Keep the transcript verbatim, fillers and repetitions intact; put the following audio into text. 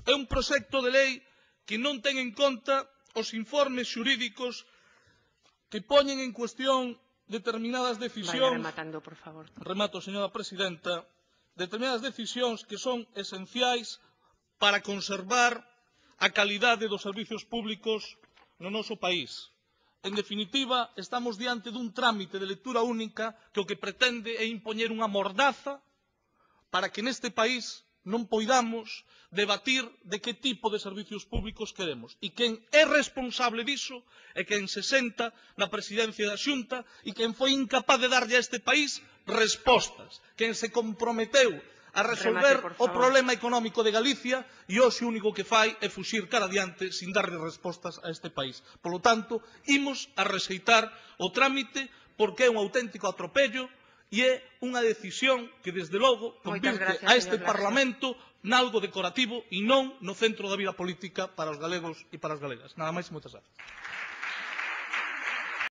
É un proxecto de lei que non ten en conta os informes xurídicos que poñen en cuestión determinadas decisións. Vaya rematando, por favor. Remato, señora presidenta. Determinadas decisións que son esenciais para conservar a calidade dos servizos públicos no noso país. En definitiva, estamos diante dun trámite de lectura única que o que pretende é impoñer unha mordaza para que neste país non poidamos debatir de que tipo de servizos públicos queremos. E quen é responsable diso é quen se senta na presidencia da Xunta e quen foi incapaz de darlle a este país respostas. Quen se comprometeu a resolver Remate, o problema económico de Galicia e hoxe o único que fai é fuxir cara adiante sin darlle respostas a este país. Polo tanto, imos a rexeitar o trámite porque é un auténtico atropello e é unha decisión que, desde logo, convirte gracias, a este señor Laxe. Parlamento nalgo decorativo e non no centro da vida política para os galegos e para as galegas. Nada máis e moitas gracias.